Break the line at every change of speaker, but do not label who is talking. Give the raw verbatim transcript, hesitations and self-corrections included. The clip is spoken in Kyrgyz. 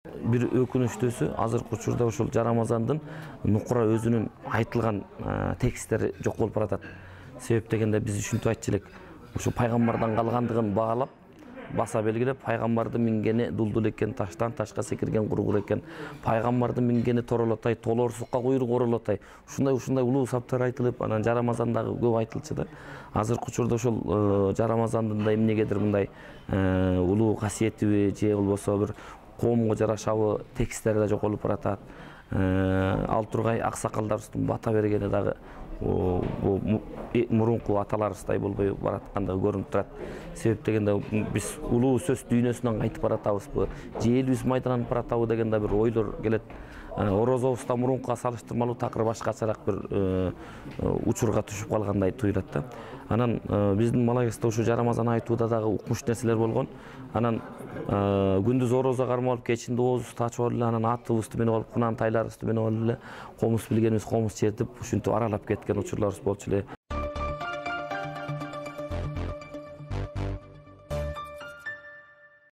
Бир өкүнүчтүүсү азыркы учурда ушул Жарамазандын нукура өзүнүн айтылган тексттери жок болуп баратат. Себеп дегенде биз ушинтип айтчу элек, ушу пайгамбардан калгандыгын баалап, баса белгилеп, пайгамбардын мингени дулдул экен, таштан ташка секирген кургур экен, пайгамбардын мингени торолотой, толорсукка куйрук оролотой. Ушундай ушундай улуу саптар айтылып, анан Жарамазандагы көп айтылчу да. Азыркы учурда ушул Жарамазандын да эмнегедир мындай улуу касиетиби же болбосо бир коомго жарашабы тексттери да жоколуп баратат. Ал тургай аксакалдарыбыздын бата бергени дагы мурунку аталарыбыздай болбой бараткандыгы көрүнүп турат. Себеп дегенде биз улуу сөз дүйнөсүнөн кайтып баратабызбы, же элибиз майдаланып баратабы деген да бир ойлор келет. Орозобузда мурункуга салыштырмалуу такыр башкачараак бир учурга түшүп калгандай туюлат да. Анан биздин Малагеста ушу Жарамазан айтууда дагы укмуш нерселер болгон. Анан күндүз орозо кармап алып, кечинде оозубузду ачып алып эле, анан атыбызды минип алып, кунан тайларыбызды минип алып эле, комуз билгенибиз комуз чертип, ушинтип аралап кеткен учурларыбыз болчу эле.